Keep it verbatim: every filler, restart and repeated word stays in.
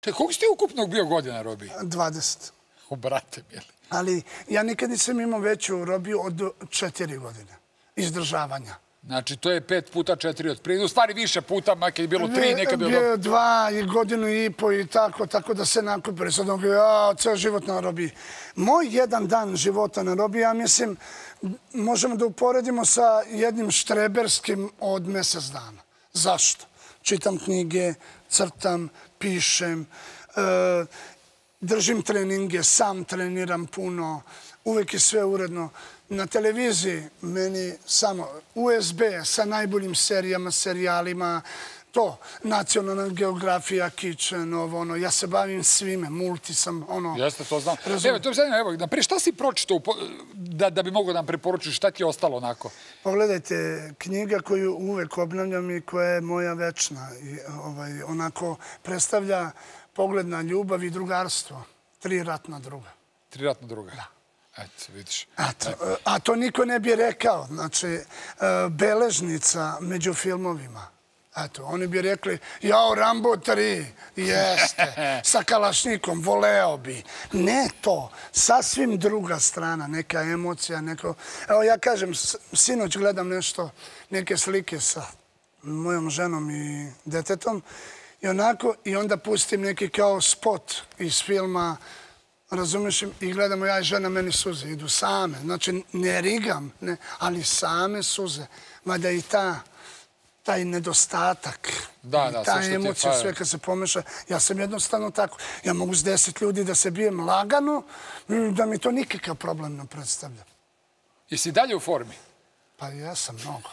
Te, koliko ste ukupno bio godina robiji? dvadeset. O, brate, mili. Ali ja nikad nisam imao veću robiju od četiri godine izdržavanja. Znači, to je pet puta četiri od prije. U stvari više puta, makar je bilo tri, nekad je bilo... Bio dva i godinu i po i tako, tako da se nakupili. Sad on ja, ceo život na robiji. Moj jedan dan života na robiji, ja mislim, možemo da uporedimo sa jednim štreberskim od mjesec dana. Zašto? Čitam knjige, crtam, pišem, držim treninge, sam treniram puno, uvek je sve uredno. Na televiziji meni samo U S B sa najboljim serijama, serijalima, to, Nacionalna geografija, Kitchen, ovo, ono, ja se bavim svime, multi sam, ono... Jeste, to znam. Evo, to je zanimljivo, evo, naprijed, šta si pročitao da bi mogao da nam preporučiš, šta ti je ostalo onako? Pogledajte, knjiga koju uvek obnavljam i koja je moja večna, onako predstavlja pogled na ljubav i drugarstvo. Tri ratna druga. Tri ratna druga? Da. Eto, vidiš. A to niko ne bi rekao. Znači, beležnica među filmovima. Eto, oni bi rekli, jao, Rambo tri, jeste, sa kalašnikom, voleo bi. Ne to, sasvim druga strana, neka emocija, neko... Evo, ja kažem, sinoć gledam nešto, neke slike sa mojom ženom i detetom i onako, i onda pustim neki kao spot iz filma, razumiješ, i gledamo ja i žena, meni suze idu same. Znači, ne rigam, ali same suze. Mada i ta, taj nedostatak, ta emocija, sve kad se pomeša. Ja sam jednostavno tako. Ja mogu s deset ljudi da se bijem lagano, da mi to nikakav problem ne predstavlja. Jesi dalje u formi? Pa ja sam mnogo.